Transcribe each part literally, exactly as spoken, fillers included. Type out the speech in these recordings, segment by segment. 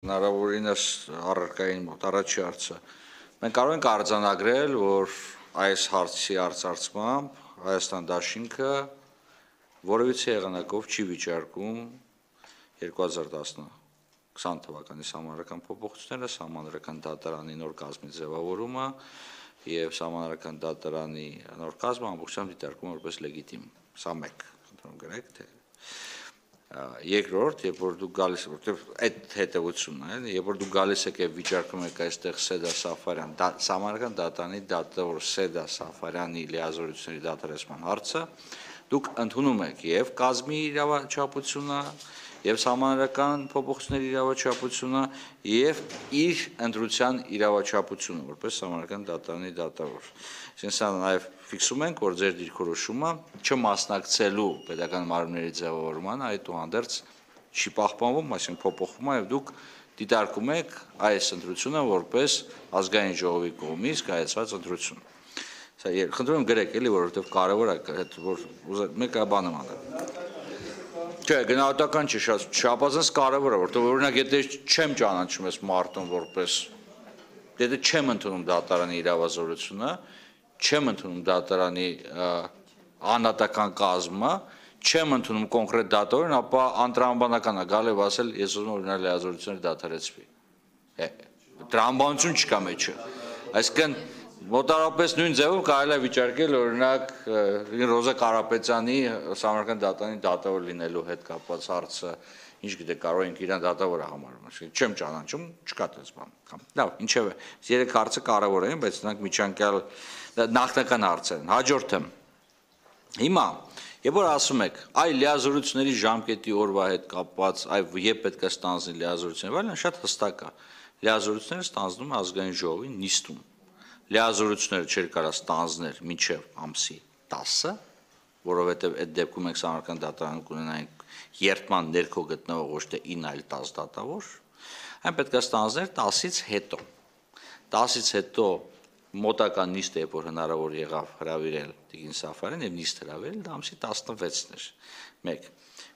Հնարավորինս առարկային մոտ առաջի հարցը։ Մենք կարող ենք արձանագրել, որ այս հարցի արծարծմամբ Հայաստան դաշինքը որևիցե եղանակով չի վիճարկում երկու հազար քսան թվականի սահմանադրական փոփոխությունները, սահմանադրական դատարանի նոր կազմի ձևավորումը եւ սահմանադրական դատարանի նոր կազմը ամբողջությամբ դիտարկում որպես լեգիտիմ։ Սա մեկ, խնդրում գրեք, թե երկրորդ, երբ որ դուք գալիս եք, որտեղ այդ հետևությունն է, երբ որ դուք գալիս եք եւ վիճարկում եք այստեղ Սեդա Սաֆարյան, սահմանադրական դատարանի դատավոր Սեդա Սաֆարյանի լիազորությունների դատարեցման հարցը, դուք ընդունում եք եւ կազմի իրավաչափությունը, եւ սահմանադրական փոփոխությունների իրավաչափությունը եւ իր ընտրության իրավաչափությունը, որպես սահմանադրական դատարանի դատավոր։ Այսինքն նաեւ ֆիքսում ենք, որ ձեր դիրքորոշումը չմասնակցելու պետական մարմինների ձևավորմանը այդուհանդերձ չի պահպանվում, այսինքն փոփոխվում է եւ դուք դիտարկում եք այս ընտրությունը որպես ազգային ժողովի կողմից կայացված ընտրություն։ Սա խնդրում եմ գրեք էլի, որովհետեւ կարեւոր է, որ մեկը բանը մանա։ Չէ, գնահատական չի, շատ չափազանց կարևոր է, որտեղ օրինակ եթե չեմ ճանաչում ես մարդուն որպես, եթե չեմ ընդունում դատարանի իրավազորությունը, չեմ ընդունում դատարանի անհատական կազմը, չեմ ընդունում կոնկրետ դատավորին, ապա անտրամաբանական է գալ եւ ասել, ես ուզում եմ օրինակ լիազորությունները դադարեցվի։ Տրամաբանություն չկա մեջը։ Այսինքն մոտարապես նույն ձևով կարելի է վիճարկել օրինակ Ռոզա Կարապետյանի սահմանադրական դատարանի դատավոր լինելու հետ կապված հարցը, ինչ գիտեք, կարող ենք իրան դատավորը համարում, չեմ ճանաչում, չկա այդպես բան։ Լավ, ինչևէ, երեք հարցը կարևոր են, բայց նրանք միջանկյալ նախնական հարցեր են։ Հաջորդը։ Հիմա, երբ որ ասում եք, այ լիազորությունների ժամկետի օրվա հետ կապված, այ երբ պետք է ստանձնի լիազորությունները, վայրեն շատ հստակ է։ Լիազորությունները ստանձնում է ազգային ժողովի նիստում։ Լիազորությունները չէր կարա ստանձնել մինչև ամսի տասը, որովհետև այդ դեպքում մենք սահմանադրական դատարանում կունենայինք երդման ներքո գտնվող ոչ թե ինը, այլ տասը դատավոր, այն պետք է ստանձներ տասից հետո։ տասից հետո մոտական նիստը, երբ որ հնարավոր եղավ հրավիրել Տիկին Սաֆարյանին եւ նիստ հրավիրել, դա ամսի տասնվեցն էր։ մեկ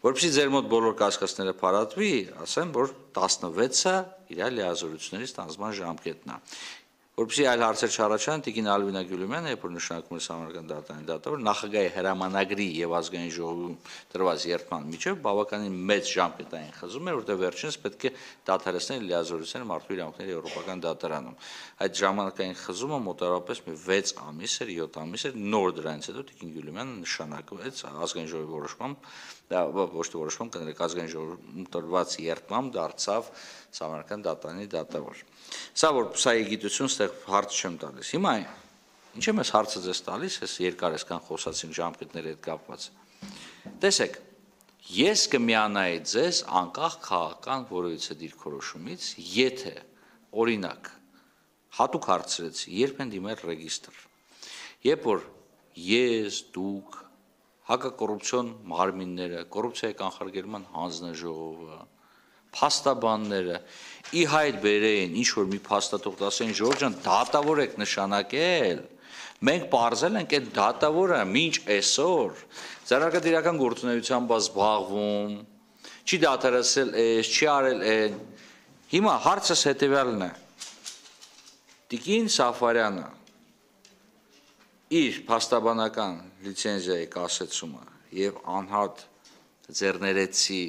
Որպեսզի ձեր մոտ բոլոր կասկածները փարատվի, ասեմ, որ տասնվեցը իր լիազորությունների ստանձնման ժամկետն է։ Որպեսզի այլ հարցեր չառաջանան, Տիկին Ալվինա Գյուլյումյանը, երբ որ նշանակում է սահմանադրական դատարանի դատավոր, նախագահի հրամանագրի եւ ազգային ժողովում տրված երդման միջև բավականին մեծ ժամկետային խզում էր, որտեղ վերջինս պետք է դադարեցնել լիազորությունները մարդու իրավունքների եվրոպական դատարանում։ Այդ ժամանակային խզումը մոտավորապես մի վեց ամիս էր, յոթ ամիս էր, նոր դրանից հետո Տիկին Գյուլյումյանը նշանակվեց ազգային ժողովի որոշմամբ, դա ոչ թե որոշմամբ, կներեք ազգային ժողովում տրված երդմամբ դարձավ սահմանադրական դատարանի դատավոր։ Սա որ սայի գիտություն ստեղ հարց չեմ տալիս։ Հիմա ինչ եմ ես հարցը ձեզ տալիս, ես երկար այսքան խոսացինք ժամկետների հետ կապված։ Տեսեք, ես կմիանայի ձեզ անկախ քաղաքական որևիցե դիրքորոշումից, եթե օրինակ հատուկ հարցրեցի, երբ են դիմել ռեգիստր։ Երբ որ ես, դուք, հակակոռուպցիոն մարմինները, կոռուպցիայի կանխարգելման հանձնաժողովը, փաստաբանները ի հայտ բերեին ինչ որ մի փաստաթուղթ ասեն Ժորժ ջան դատավոր եք նշանակել, մենք պարզել ենք այդ դատավորը մինչ այսօր ձեռնարկատիրական գործունեությամբ զբաղվում, չի դատարեցել էս, չի արել այն։ Հիմա հարցս հետևյալն է. Տիկին Սաֆարյանը իր փաստաբանական լիցենզիայի կասեցումը եւ անհատ ձեռներեցի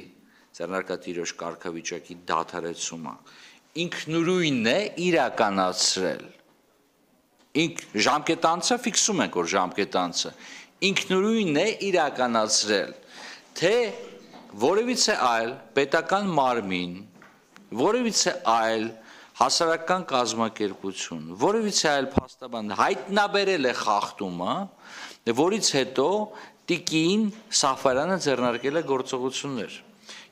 ձեռնարկատիրոջ կարգավիճակի դադարեցումը ինքնուրույնն է իրականացրել։ Ինք ժամկետանցը ֆիքսում ենք, որ ժամկետանցը ինքնուրույնն է իրականացրել, թե որևիցե այլ պետական մարմին, որևիցե այլ հասարակական կազմակերպություն, որևիցե այլ փաստաբան հայտնաբերել է խախտումը, որից հետո Տիկին Սաֆարյանը ձեռնարկել է գործողություններ։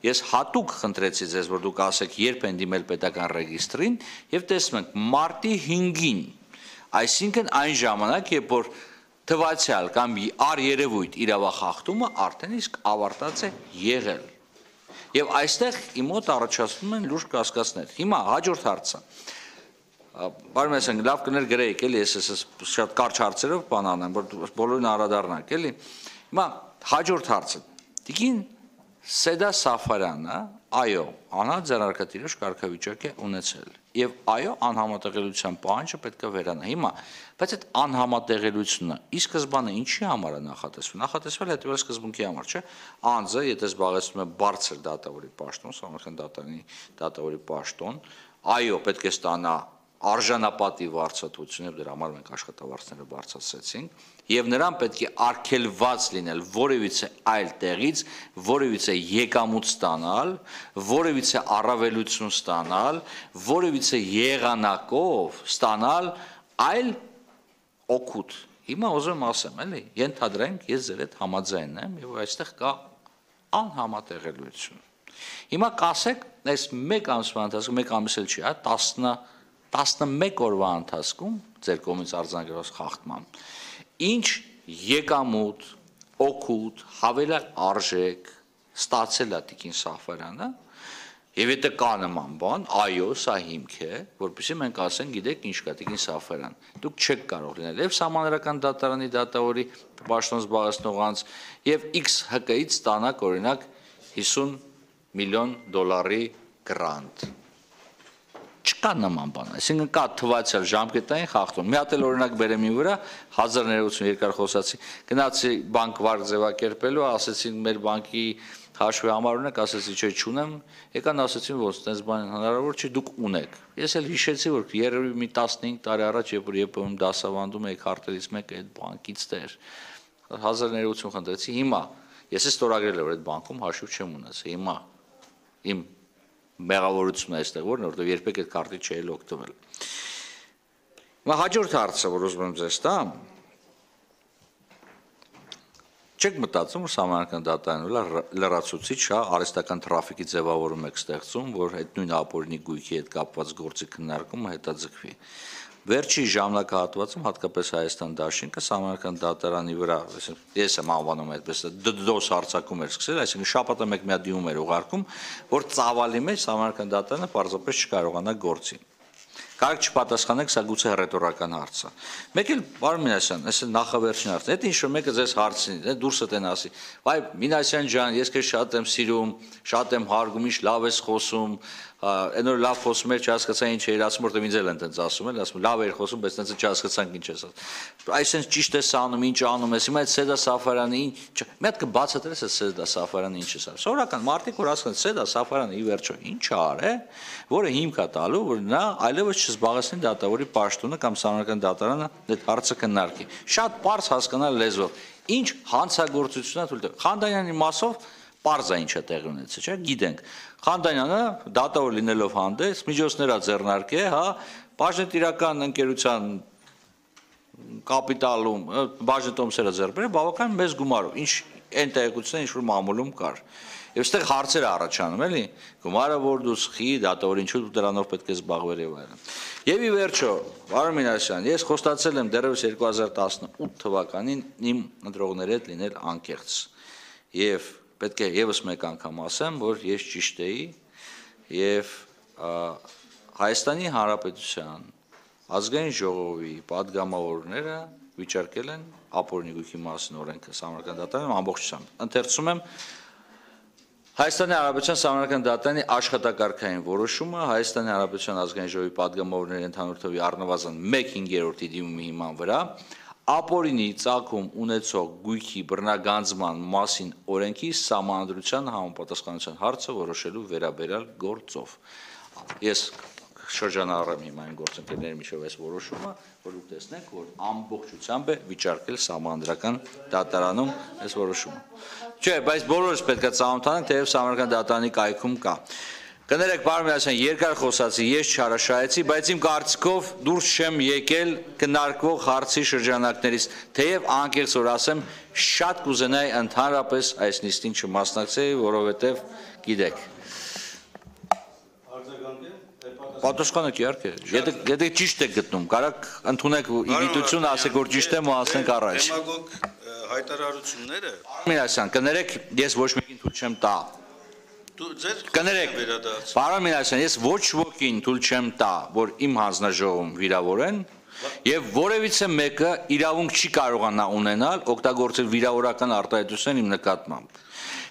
Ես հատուկ խնդրեցի ձեզ, որ դուք ասեք, երբ են դիմել պետական ռեգիստրին, եւ տեսնում ենք մարտի հինգին, այսինքն այն ժամանակ, երբ որ թվացյալ կամ առերևույթ իրավախախտումը արդեն իսկ ավարտած է եղել։ Եվ այստեղ իմ մոտ առաջացնում են լուրջ կասկածներ։ Հիմա հաջորդ հարցը։ Բարի մեսեն, լավ կներ գրեիք, էլի, ես ես շատ կարճ հարցերով բան անեմ, որ բոլորին անդրադառնանք, էլի։ Հիմա հաջորդ հարցը։ Տիկին Սեդա Սաֆարյանը այո, անհատ ձեռնարկատիրոջ կարգավիճակ է ունեցել։ Եվ այո, անհամատեղելիության պահանջը պետք է վերանա։ Հիմա, բայց այդ անհամատեղելիությունը ի սկզբանե ինչի համար է նախատեսվել։ Նախատեսվել է հետևյալ սկզբունքի համար, չէ՞։ Անձը, եթե զբաղեցնում է բարձր դատավորի պաշտոն, Սահմանադրական դատարանի դատավորի պաշտոն, այո, պետք է ստանա արժանապատիվ վարձատրություն, եւ դրա համար մենք աշխատավարձները բարձրացրեցինք, եւ նրան պետք է արգելված լինել որևիցե այլ տեղից, որևիցե եկամուտ ստանալ, որևիցե առավելություն ստանալ, որևիցե եղանակով ստանալ այլ օգուտ։ Հիմա ուզում եմ ասեմ, էլի, ենթադրենք ես ձեր հետ համաձայն եմ եւ այստեղ կա անհամատեղելիություն։ Հիմա կասեք, այս մեկ ամսվա ընթացքում, մեկ ամիս էլ չի, հա, տասնմեկ օրվա ընթացքում ձեր կողմից արձանագրված խախտման ինչ եկամուտ, օգուտ, հավելյալ արժեք ստացել է Տիկին Սաֆարյանը, եւ եթե կա նման բան, այո, սա հիմք է, որպեսզի մենք ասենք, գիտեք, ինչ կա Տիկին Սաֆարյան։ Դուք չեք կարող լինել եւ Սահմանադրական դատարանի դատավորի պաշտոն զբաղեցնող անձ եւ X ՀԿ-ից ստանաք օրինակ հիսուն միլիոն դոլարի գրանտ։ Չկա նման բան, այսինքն կա թվացial ժամկետային խախտում։ Մի հատ էլ օրինակ բերեմ ի վրա հազար ներողություն երկար խոսացի, գնացի բանկ վարկ ձևակերպելու, ասեցին մեր բանկի հաշվի համար ունեք, ասեցի չէ չունեմ, եկան ասեցին որ այդպես բան հնարավոր չի, դուք ունեք։ Ես էլ հիշեցի որ երևի մի տասնհինգ տարի առաջ երբ որ ԵՊՄ դասավանդում էի քարտերից մեկը այդ բանկից դեր հազար ներողություն խնդրեցի, հիմա ես էլ ստորագրել եմ այդ բանկում հաշիվ չեմ ունեցել, հիմա իմ մեղավորությունն է այստեղ որն է, որտեղ երբեք այդ քարտի չէի օգտվել։ Հիմա հաջորդ հարցը, որ ուզում եմ ձեզ տամ, չեք մտածում, որ Սահմանադրական դատարանը լրացուցիչ հա արհեստական տրաֆիկի ձևավորում եք ստեղծում, որ այդ նույն ապօրինի գույքի հետ կապված գործի քննարկումը հետաձգվի։ Վերջի ժամանակահատվածում հատկապես Հայաստան դաշինքը Սահմանադրական դատարանի վրա, ես եմ անվանում այդպես, դդոս հարձակում էր սկսել, այսինքն շաբաթը մեկ մի հատ դիմում էր ուղարկում, որ ծավալի մեջ Սահմանադրական դատարանը պարզապես չկարողանա գործի։ Կարող չպատասխանեք, սա գուցե հռետորական հարց է։ Մեկ էլ պարոն Մինասյան, այս նախավերջին հարցն է, դա ինչ որ մեկը ձեզ հարցնի, դուրսը տեն ասի, վայ Մինասյան ջան, ես քեզ շատ եմ սիրում, շատ եմ հարգում, ինչ լավ ես խոսում, այն որ լավ խոսում էր, չհասկացա ինչ էր ասում, որտեղ ինձ էլ են տենց ասում էլ, ասում լավ էր խոսում, բայց տենց չհասկացանք ինչ ես ասում։ Այսինքն ճիշտ ես անում, ինչ անում ես, հիմա այդ Սեդա Սաֆարյանը ինչ, մի հատ կբացատրես այդ Սեդա Սաֆարյանը ինչ է ասում։ Սովորական մարդիկ որ ասում են Սեդա Սաֆարյանը ի վերջո ինչ արե, որը հիմք է տալու, որ նա այլևս չզբաղեցնի դատավորի պաշտոնը կամ Սահմանադրական դատարանը այդ հարցը քննարկի։ Շատ པարզ հասկանալ լեզվով։ Ինչ հանցագործություն է թույլ տվել։ Խանդանյանի մասով պարզ է ինչ է տեղի ունեցել, չէ՞, գիտենք։ Խանդանյանը դատավոր լինելով հանդես, միջոցները ձեռնարկե, հա, բաժնետիրական ընկերության կապիտալում, բաժնետոմսերը ձեռբերել, բավական մեծ գումարով, ինչ այն տեղեկությունները ինչ որ մամուլում կար։ Եվ այստեղ հարցեր առաջանում, էլի, գումարը որ դու սխի, դատավոր ինչու դու դրանով պետք է զբաղվել եւ այլն։ Եվ ի վերջո, պարոն Մինասյան, ես խոստացել եմ դեռևս երկու հազար տասնութ թվականին իմ ընտրողների հետ լինել անկեղծ։ Եվ պետք է եւս մեկ անգամ ասեմ, որ ես ճիշտ էի եւ Հայաստանի Հանրապետության ազգային ժողովի падգամավորները վիճարկել են ապօրինի գույքի մասին օրենքը Սահմանադրական դատարանում ամբողջությամբ։ Ընթերցում եմ Հայաստանի Հանրապետության Սահմանադրական դատարանի աշխատակարգային որոշումը Հայաստանի Հանրապետության ազգային ժողովի падգամավորների ընդհանուր թվի առնվազն մեկ հինգերորդի դիմումի հիման վրա ապօրինի ծագում ունեցող գույքի բռնագանձման մասին օրենքի սահմանադրության համապատասխանության հարցը որոշելու վերաբերյալ գործով։ Ես շրջանառեմ հիմա այն գործընկերների միջև այս որոշումը, որ դուք տեսնեք, որ ամբողջությամբ է վիճարկել Սահմանադրական դատարանում այս որոշումը։ Չէ, բայց բոլորս պետք է ծանոթանանք, թեև Սահմանադրական դատարանի կայքում կա։ Կներեք, պարոն Մինասյան, երկար խոսացի, ես չհարաշահեցի, բայց իմ կարծիքով դուրս չեմ եկել քննարկվող հարցի շրջանակներից, թեև անկեղծ որ ասեմ, շատ կուզենայի ընդհանրապես այս նիստին չմասնակցեի, որովհետև գիտեք։ Պատասխանեք իհարկե, եթե ճիշտ եք գտնում, կարաք ընդունեք իգիտություն, ասեք որ ճիշտ եմ ու ասենք առաջ։ Դեմագոգ հայտարարությունները։ Մինասյան, կներեք, ես ոչ մեկին թույլ չեմ տա։ Կներեք, պարոն Մինասյան, ես ոչ ոքին թույլ չեմ տա, որ իմ հանձնաժողովում վիրավորեն եւ որևիցե մեկը իրավունք չի կարողանա ունենալ օգտագործել վիրավորական արտահայտություն իմ նկատմամբ։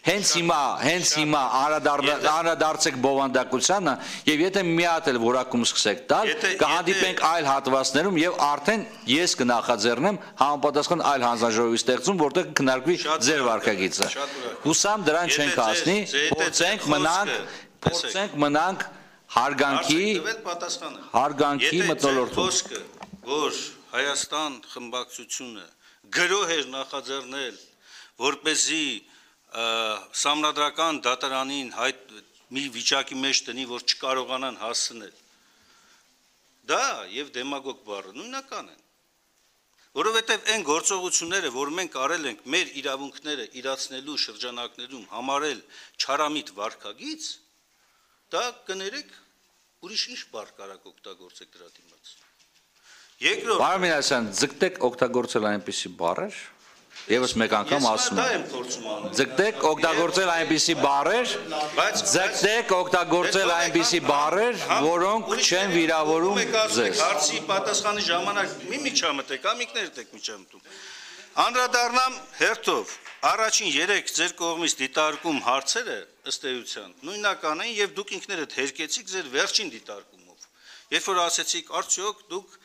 Հենց հիմա, հենց հիմա անդրադարձեք բովանդակությանը եւ եթե մի հատ էլ որակում սկսեք տալ, կհանդիպենք այլ հատվածներում եւ արդեն ես կնախաձեռնեմ համապատասխան այլ հանձնաժողովի ստեղծում, որտեղ կքննարկվի ձեր վարկագիծը։ Հուսամ դրան չենք հասնի, փորձենք մնանք, փորձենք մնանք հարգանքի, հարգանքի մթնոլորտում։ Որ Հայաստան խմբակցությունը գրող էր նախաձեռնել, որպեսզի սահմանադրական դատարանին հայտ մի վիճակի մեջ տնի, որ չկարողանան հասնել։ Դա եւ դեմագոգ բառը նույնական են։ Որովհետեւ այն գործողությունները, որ մենք արել ենք մեր իրավունքները իրացնելու շրջանակներում համարել չարամիտ վարկագիծ, դա կներեք ուրիշ ինչ բառ կարակ օգտագործեք դրա դիմաց։ Երկրորդ, Պարոն Մինասյան, ձգտեք օգտագործել այնպիսի բառեր, եւս մեկ անգամ ասում եմ։ Ձգտեք օգտագործել այնպիսի բառեր, ձգտեք օգտագործել այնպիսի բառեր, որոնք չեն վիրավորում ձեզ։ Հարցի պատասխանի ժամանակ մի միջամտեք, ամիկներդ եք միջամտում։ Անդրադառնամ հերթով առաջին երեք ձեր կողմից դիտարկում հարցերը ըստ էության նույնական են եւ դուք ինքներդ հերկեցիք ձեր վերջին դիտարկումով։ Երբ որ ասեցիք արդյոք դուք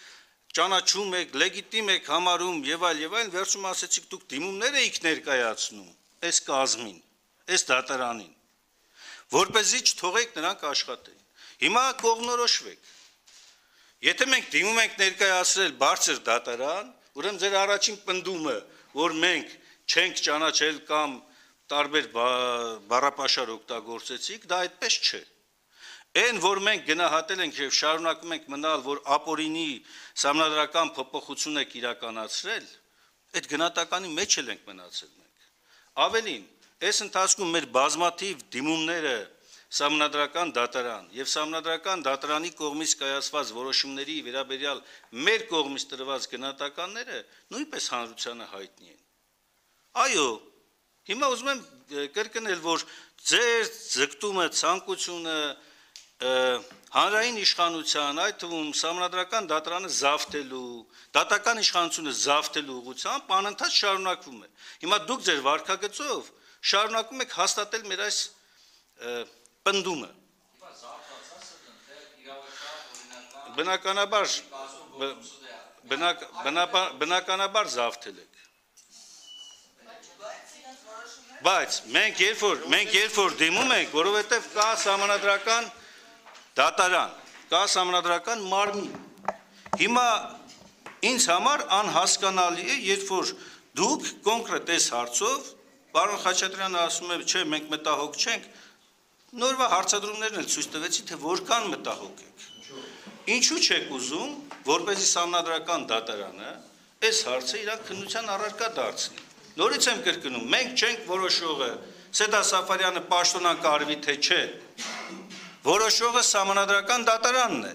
ճանաչում եք, լեգիտիմ եք համարում եւ այլ եւ այլ, վերջում ասեցիք դուք դիմումներ եք ներկայացնում այս կազմին, այս դատարանին, որպեսզի չթողեք նրանք աշխատեն։ Հիմա կողմնորոշվեք։ Եթե մենք դիմում ենք ներկայացրել բարձր դատարան, ուրեմն ձեր առաջին պնդումը, որ մենք չենք ճանաչել կամ տարբեր բառապաշար օգտագործեցիք, դա այդպես չէ։ Այն, որ մենք գնահատել ենք եւ շարունակում ենք մնալ, որ ապօրինի սահմանադրական փոփոխություն եք իրականացրել, այդ գնահատականի մեջ էլ ենք մնացել մենք։ Ավելին, այս ընթացքում մեր բազմաթիվ դիմումները սահմանադրական դատարան եւ սահմանադրական դատարանի կողմից կայացված որոշումների վերաբերյալ մեր կողմից տրված գնահատականները նույնպես հանրությանը հայտնի են։ Այո, հիմա ուզում եմ կրկնել, որ ձեր ձգտումը, ցանկությունը հանրային իշխանության, այդ թվում սահմանադրական դատարանը զավթելու, դատական իշխանությունը զավթելու ուղղությամբ անընդհատ շարունակվում է։ Հիմա դուք ձեր վարկագծով շարունակում եք հաստատել մեր այս պնդումը։ Բնականաբար բնականաբար զավթել եք։ Բայց մենք երբ որ մենք երբ որ դիմում ենք, որովհետև կա սահմանադրական դատարան, կա սահմանադրական մարմին։ Հիմա ինձ համար անհասկանալի է, երբ որ դուք կոնկրետ այս հարցով, պարոն Խաչատրյանը ասում է, չէ, մենք մտահոգ չենք, նորվա հարցադրումներն էլ ցույց տվեցին, թե որքան մտահոգ եք։ Ինչու չեք ուզում, որպեսզի սահմանադրական դատարանը այս հարցը իր քննության առարկա դարձնի։ Նորից եմ կրկնում, մենք չենք որոշողը, Սեդա Սաֆարյանը պաշտոնակարվի թե չէ։ Որոշողը սահմանադրական դատարանն է,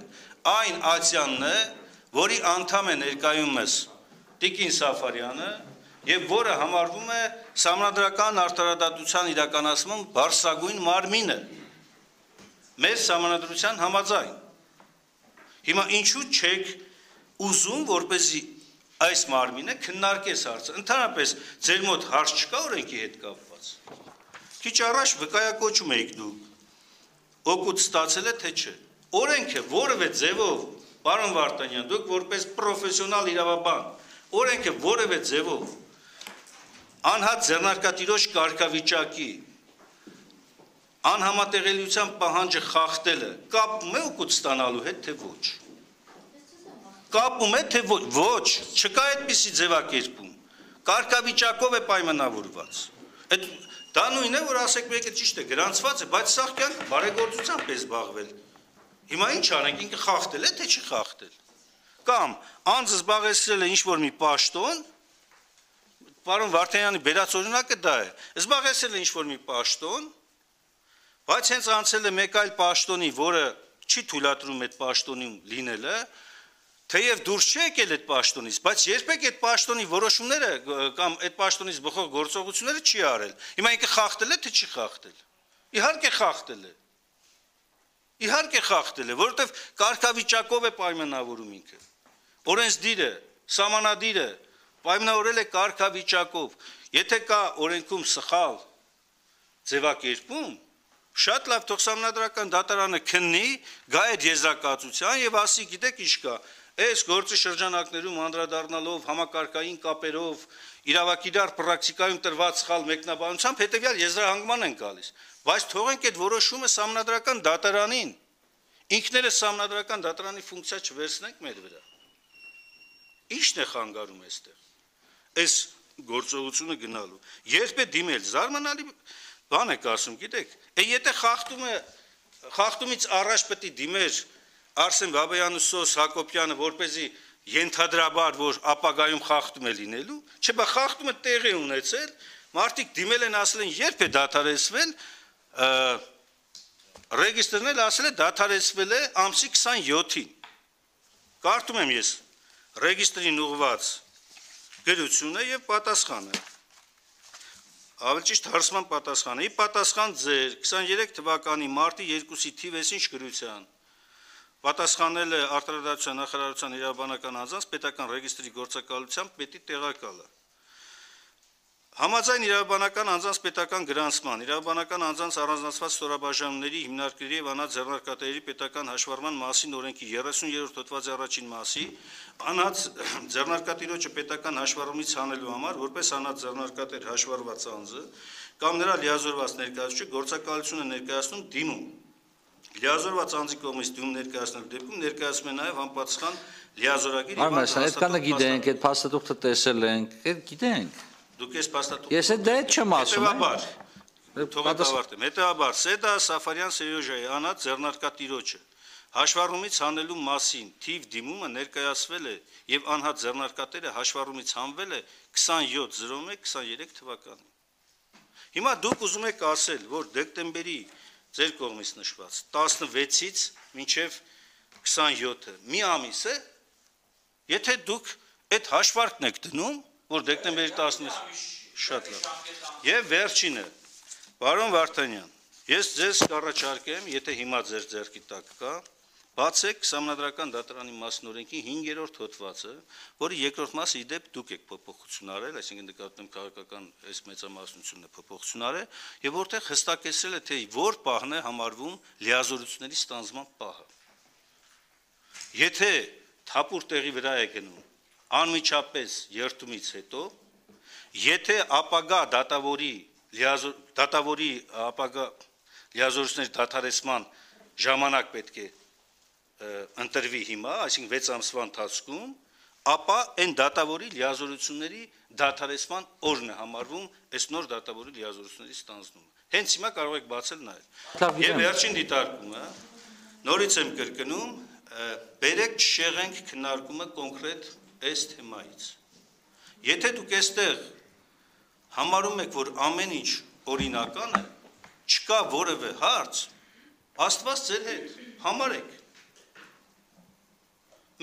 այն ացյանն է, որի անդամ է ներկայումս Տիկին Սաֆարյանը եւ որը համարվում է սահմանադրական արտարադատության իրականացման բարձրագույն մարմինը։ Մեր սահմանադրության համաձայն։ Հիմա ինչու չեք ուզում, որպեսզի այս մարմինը քննարկես հարցը։ Ընդհանրապես ձեր մոտ հարց չկա օրենքի հետ կապված։ Քիչ առաջ վկայակոչում եք դուք։ Օգուտ ստացել է թե չէ։ Օրենքը որևէ ձևով, պարոն Վարդանյան, դուք որպես պրոֆեսիոնալ իրավաբան, օրենքը որևէ ձևով անհատ ձեռնարկատիրոջ կարգավիճակի անհամատեղելիության պահանջը խախտելը կապում է օգուտ ստանալու հետ թե ոչ։ Կապում է թե ոչ, ոչ, չկա այդպիսի ձևակերպում, կարգավիճակով է պայմանավորված, դա նույն է, որ ասեք մեկը ճիշտ է, գրանցված է, բայց սաղ կյանք բարեգործությամբ է զբաղվել, հիմա ինչ անենք, ինքը խախտել է, թե չի խախտել, կամ անձը զբաղեցրել է ինչ-որ մի պաշտոն, պարոն Վարդանյանի բերած օրինակը դա է, զբաղեցրել է ինչ-որ մի պաշտոն, բայց հենց անցել է մեկ այլ պաշտոնի, որը չի թույլատրում այդ պաշտոնում լինելը, թեև դուրս չի եկել այդ պաշտոնից, բայց երբեք այդ պաշտոնի որոշումները կամ այդ պաշտոնից բխող գործողությունները չի արել։ Հիմա ինքը խախտել է, թե չի խախտել։ Իհարկե խախտել է։ Իհարկե խախտել է, որովհետև կարգավիճակով է պայմանավորում ինքը։ Օրենսդիրը, ձևակերպում, շատ լավ թող Սահմանադրական դատարանը քննի, գա այդ եզրակացության եւ ասի, գիտեք ինչ կա, այս գործի շրջանակներում անդրադառնալով համակարգային կապերով իրավակիրառ պրակտիկայում տրված սխալ մեկնաբանությամբ հետեւյալ եզրահանգման են գալիս, բայց թողենք այդ որոշումը Սահմանադրական դատարանին, ինքներս Սահմանադրական դատարանի ֆունկցիա չվերցնենք մեր վրա։ Ի՞նչն է խանգարում այստեղ։ Այս գործողությունը գնալու։ Երբ է դիմել, զարմանալի բան եք ասում, գիտեք, եթե խախտումը խախտումից առաջ պետք է դիմեր Արսեն Բաբայանը, Սոս Հակոբյանը, որպեսզի ենթադրաբար, որ ապագայում խախտում է լինելու, չէ՞ բա խախտումը տեղի ունեցել, մարդիկ դիմել են, ասել են, երբ է դադարեցվել, ռեգիստրն էլ ասել է դադարեցվել է ամսի քսանյոթին։ Կարդում եմ ես ռեգիստրին ուղված գրությունը եւ պատասխանը։ Ավելի ճիշտ հարցման պատասխանը։ Ի պատասխան ձեր քսաներեք թվականի մարտի երկուսի թիվ ինչ գրության։ Պատասխանել է արտադրության նախարարության իրավաբանական անձանց պետական ռեգիստրի գործակալությամբ պետի տեղակալը։ Համաձայն իրավաբանական անձանց պետական գրանցման, իրավաբանական անձանց առանձնացված ստորաբաժանումների հիմնարկների եւ անհատ ձեռնարկատերերի պետական հաշվառման մասին օրենքի երեսուներորդ հոդվածի առաջին մասի, անհատ ձեռնարկատիրոջը պետական հաշվառումից հանելու համար, որպես անհատ ձեռնարկատեր հաշվառված անձը կամ նրա լիազորված ներկայացուցիչը գործակալությունը ներկայացնում դիմում։ Լիազորված անձի կողմից դիմում ներկայացնելու դեպքում ներկայացում է նաեւ համապատասխան լիազորագիր եւ այդքանը գիտենք, այդ փաստաթուղթը տեսել ենք, այդ գիտենք։ Դուք ես փաստաթուղթ։ Ես այդ դե չեմ ասում։ Հետևաբար, թողեք ավարտեմ։ Հետևաբար Սեդա Սաֆարյան Սերյոժայի անհատ ձեռնարկատիրոջը հաշվառումից հանելու մասին թիվ դիմումը ներկայացվել է եւ անհատ ձեռնարկատերը հաշվառումից հանվել է քսանյոթ զրոմեկ քսաներեք թվականին։ Հիմա դուք ուզում եք ասել, որ դեկտեմբերի ձեր կողմից նշված տասնվեցից մինչև քսանյոթը մի ամիս է, եթե դուք այդ հաշվարկն եք դնում, որ դեկտեմբերի տասնից շատ լավ։ Եվ վերջինը, պարոն Վարդանյան, ես ձեզ կառաջարկեմ, եթե հիմա ձեր ձեռքի տակ կա, բացեք Սահմանադրական դատարանի մասնօրենքի հինգերորդ հոդվածը, որի երկրորդ մասը ի դեպ դուք եք փոփոխություն արել, այսինքն նկատում քաղաքական այս մեծամասնությունն է փոփոխություն արել, եւ որտեղ հստակեցրել է, թե որ պահն է համարվում լիազորությունների ստանձնման պահը։ Եթե թափուր տեղի վրա է գնում անմիջապես երթումից հետո, եթե ապագա դատավորի դատավորի ապագա լիազորությունների դադարեցման ժամանակ պետք է ընտրվի հիմա, այսինքն վեց ամսվա ընթացքում, ապա այն դատավորի լիազորությունների դադարեցման օրն է համարվում այս նոր դատավորի լիազորությունների ստանձնումը։ Հենց հիմա կարող եք բացել նաև։ Եվ վերջին դիտարկումը, նորից եմ կրկնում, բերեք չշեղենք քննարկումը կոնկրետ այս թեմայից։ Եթե դուք այստեղ համարում եք, որ ամեն ինչ օրինական է, չկա որևէ հարց, Աստված ձեր հետ, համարեք։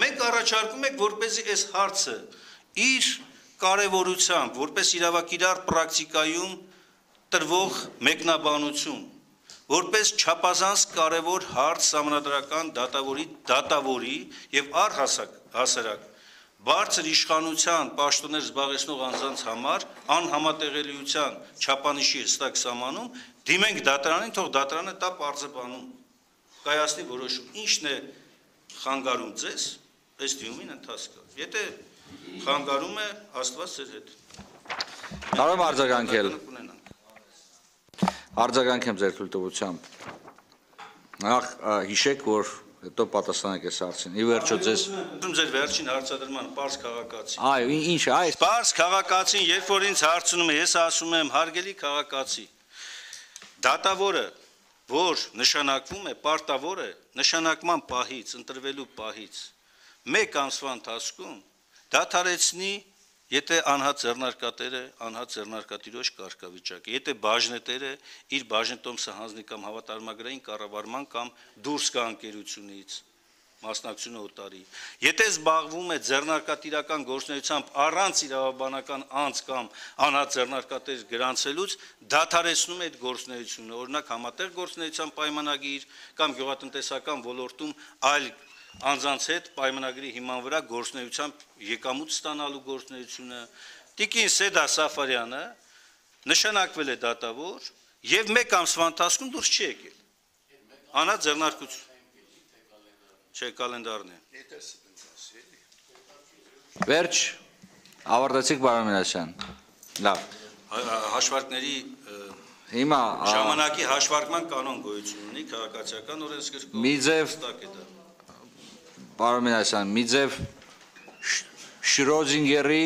Մենք առաջարկում ենք, որպեսզի այս հարցը իր կարևորությամբ, որպես իրավակիրառ պրակտիկայում տրվող մեկնաբանություն, որպես չափազանց կարևոր հարց Սահմանադրական դատավորի դատավորի եւ առհասարակ բարձր իշխանության պաշտոններ զբաղեցնող անձանց համար անհամատեղելիության չափանիշի հստակ սահմանում դիմենք դատարանին, թող դատարանը տա պարզաբանում, կայացնի որոշում, ինչն է խանգարում ձեզ այս դիմումին ընթացքով։ Եթե խանգարում է, Աստված ձեր հետ։ Կարող եմ արձագանքել։ Արձագանքեմ ձեր թույլտվությամբ։ Նախ հիշեք, որ հետո պատասխանեք այս հարցին։ Ի վերջո ձեզ ձեր վերջին հարցադրման պարզ քաղաքացի։ Այո, ինչ է, այս պարզ քաղաքացին, երբ որ ինձ հարցնում է, ես ասում եմ, հարգելի քաղաքացի, դատավորը, որ նշանակվում է, պարտավոր է նշանակման պահից, ընտրվելու պահից մեկ ամսվա ընթացքում դադարեցնի, եթե անհատ ձեռնարկատերը, անհատ ձեռնարկատիրոջ կարգավիճակը, եթե բաժնետերը իր բաժնետոմսը հանձնի կամ հավատարմագրային կառավարման կամ դուրս գա ընկերությունից, մասնակցությունը օտարի, եթե զբաղվում է ձեռնարկատիրական գործունեությամբ առանց իրավաբանական անձ կամ անհատ ձեռնարկատեր գրանցելուց, դադարեցնում է այդ գործունեությունը, օրինակ համատեղ գործունեության պայմանագիր կամ գյուղատնտեսական ոլորտում այլ անձանց հետ պայմանագրի հիման վրա գործունեությամբ եկամուտ ստանալու գործունեությունը, Տիկին Սեդա Սաֆարյանը նշանակվել է դատավոր եւ մեկ ամսվա ընթացքում դուրս չի եկել։ Անա ձեռնարկություն։ Չէ, կալենդարն է։ Վերջ, ավարտեցիք պարոն Մինասյան։ Լավ։ Հաշվարկների Հիմա ժամանակի հաշվարկման կանոն գոյություն ունի քաղաքացիական օրենսգրքում։ մի ձև պարոն Մինասյան, մի ձև Շրոդինգերի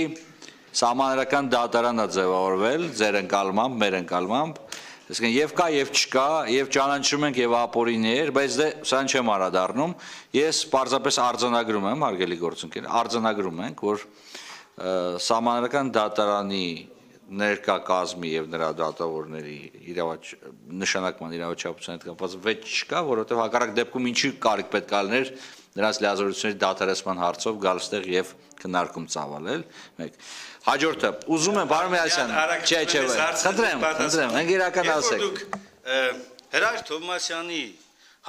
սահմանադրական դատարանը ձևավորվել ձեր ընկալմամբ, մեր ընկալմամբ, այսինքն եւ կա եւ չկա, եւ ճանաչում ենք եւ ապօրիններ, բայց դե սրան չեմ անդրադառնում, ես պարզապես արձանագրում եմ, հարգելի գործընկեր, արձանագրում ենք, որ սահմանադրական դատարանի ներկա կազմի եւ նրա դատավորների իրավաչ նշանակման իրավաչափության հետ կապված վեճ չկա, որովհետեւ հակառակ դեպքում ինչի կարիք պետք է լիներ նրանց լիազորությունների դադարեցման հարցով գալ ստեղ եւ քննարկում ծավալել, մեկ։ Հաջորդը, ուզում եմ պարոն Մինասյան, չէ, չէ, խնդրեմ, խնդրեմ, մենք իրականացեք։ Հրայր Թովմասյանի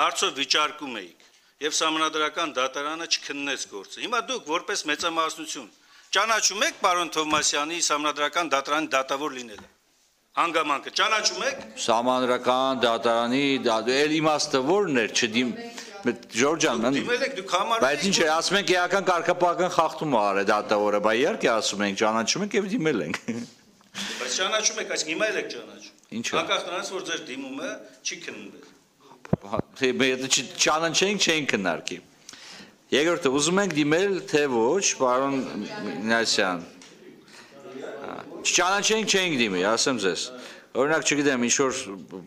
հարցով վիճարկում էիք եւ սահմանադրական դատարանը չքննեց գործը։ Հիմա դուք որպես մեծամասնություն ճանաչում եք պարոն Թովմասյանի սահմանադրական դատարանի դատավոր լինելը։ Հանգամանքը ճանաչում եք։ Սահմանադրական դատարանի այլ իմաստը ո՞րն էր, չդիմ Ժորժ ջան, բայց ինչ է, ասում ենք էական կարգապահական խախտում է արել դատավորը, բայց իհարկե ասում ենք ճանաչում ենք եւ դիմել ենք։ Բայց ճանաչում եք, այսինքն հիմա էլ եք ճանաչում։ Ինչը։ Անկախ նրանից, որ ձեր դիմումը չի քննվել։ Եթե չճանաչենք, չենք քննարկի։ Երկրորդը, ուզում ենք դիմել, թե ոչ, պարոն Մինասյան։ Չճանաչենք, չենք դիմի, ասեմ ձեզ։ Օրինակ, չգիտեմ, ինչ-որ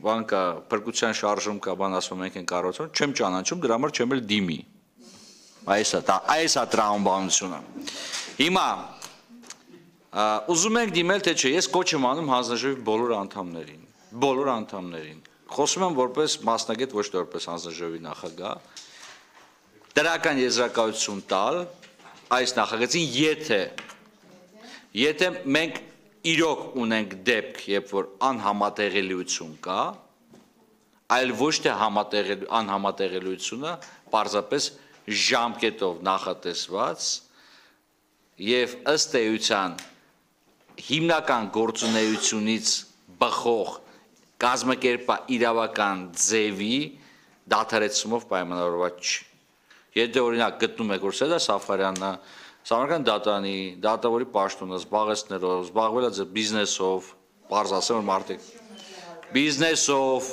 բան կա, փրկության շարժում կա, բան ասում ենք են կառուցում, չեմ ճանաչում, դրա համար չեմ էլ դիմի։ Այս է, այս է տրամաբանությունը։ Հիմա ուզում ենք դիմել, թե չէ, ես կոչ եմ անում հանձնաժողովի բոլոր անդամներին, բոլոր անդամներին։ Խոսում եմ որպես մասնագետ, ոչ թե որպես հանձնաժողովի նախագահ, դրական եզրակացություն տալ այս նախագծին, եթե եթե մենք իրոք ունենք դեպք, երբ որ անհամատեղելիություն կա, այլ ոչ թե անհամատեղելիությունը պարզապես ժամկետով նախատեսված եւ ըստ էության հիմնական գործունեությունից բխող կազմակերպա իրավական ձևի դադարեցումով պայմանավորված չի։ Եթե օրինակ գտնում եք, որ Սեդա Սաֆարյանը Սահմանադրական դատարանի դատավորի պաշտոնը զբաղեցնելով, զբաղվել է բիզնեսով, պարզ ասեմ, որ մարդիկ բիզնեսով,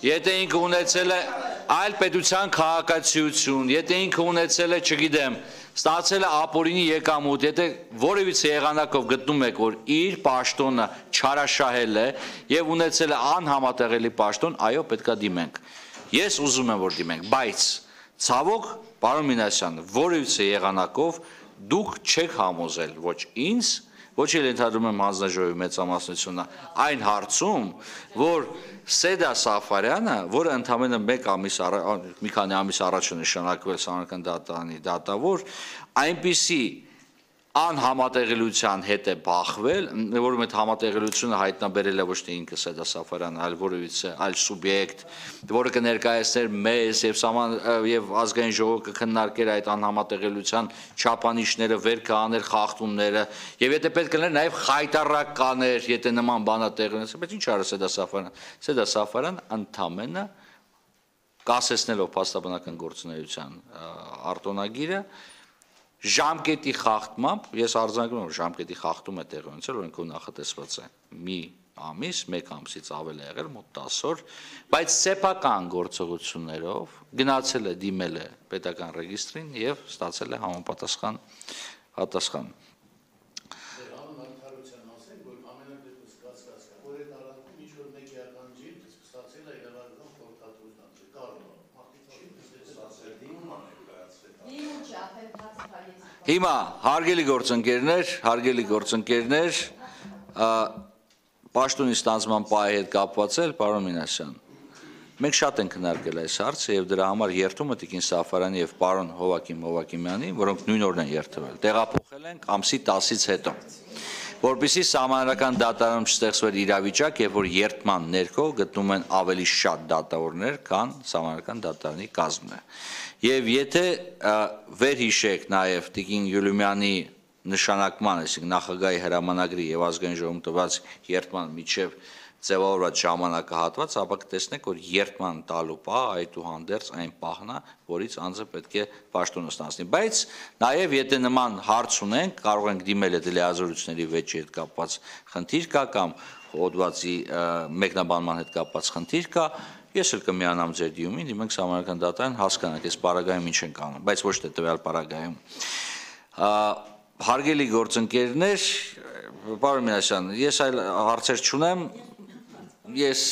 եթե ինքը ունեցել է այլ պետության քաղաքացիություն, եթե ինքը ունեցել է, չգիտեմ, ստացել է ապօրինի եկամուտ, եթե որևիցե եղանակով գտնում եք, որ իր պաշտոնը չարաշահել է եւ ունեցել է անհամատեղելի պաշտոն, այո, պետքա դիմենք։ Ես ուզում եմ, որ դիմենք, բայց ցավոք, պարոն Մինասյան, որևիցե եղանակով դուք չեք համոզել ոչ ինձ, ոչ էլ ընդհանրում եմ հանձնաժողովի մեծամասնությունը այն հարցում, որ Սեդա Սաֆարյանը, որը ընդամենը մեկ ամիս մի քանի ամիս առաջ է նշանակվել Սահմանադրական դատարանի դատավոր, այնպիսի անհամատեղելիության հետ է բախվել, որում այդ համատեղելիությունը հայտնաբերել է ոչ թե ինքը Սեդա Սաֆարյանը, այլ որևիցե այլ սուբյեկտ, որը կներկայացներ մեզ եւ սահման եւ ազգային ժողովը կքննարկեր այդ անհամատեղելիության չափանիշները, վեր կաներ խախտումները, եւ եթե պետք է լիներ նաեւ խայտարակ կաներ, եթե նման բանա տեղի ունեցավ, բայց ինչ արել Սեդա Սաֆարյանը։ Սեդա Սաֆարյանը ընդամենը կասեցնելով փաստաբանական գործունեության արտոնագիրը ժամկետի խախտմամբ, ես արձանագրում եմ, ժամկետի խախտում է տեղի ունեցել, օրենքով նախատեսված է մի ամիս, մեկ ամսից ավել է եղել, մոտ տասը օր, բայց սեփական գործողություններով գնացել է, դիմել է պետական ռեգիստրին եւ ստացել է համապատասխան պատասխան։ Հիմա հարգելի գործընկերներ, հարգելի գործընկերներ, պաշտոնի ստանձնման պահի հետ կապված էլ, պարոն Մինասյան, մենք շատ ենք քննարկել այս հարցը եւ դրա համար երթումը Տիկին Սաֆարյանի եւ պարոն Հովակիմ Հովակիմյանի, որոնք նույն օրն են երթվել, տեղափոխել ենք ամսի տասից հետո, որպեսզի Սահմանադրական դատարանում չստեղծվեր իրավիճակ, երբ որ երթման ներքո գտնում են ավելի շատ դատավորներ, քան Սահմանադրական դատարանի կազմն է։ Եվ եթե վերհիշեք նաև Տիկին Յուլիումյանի նշանակման, այսինքն նախագահի հրամանագրի եւ ազգային ժողովում տված երթման միջև ձևավորված ժամանակահատված, ապա կտեսնեք, որ երթման տալու պահ այդուհանդերձ այն պահն է, որից անձը պետք է պաշտոնը ստանձնի։ Բայց նաև եթե նման հարց ունենք, կարող ենք դիմել այդ լիազորությունների վեճի հետ կապված խնդիր կա կամ հոդվածի մեկնաբանման հետ կապված խնդիր կա, ես էլ կմիանամ ձեր դիմումին, դիմենք Սահմանադրական դատարան, հասկանանք այս պարագայում ինչ ենք անում, բայց ոչ թե տվյալ պարագայում։ Հարգելի գործընկերներ, պարոն Մինասյան, ես այլ հարցեր չունեմ, ես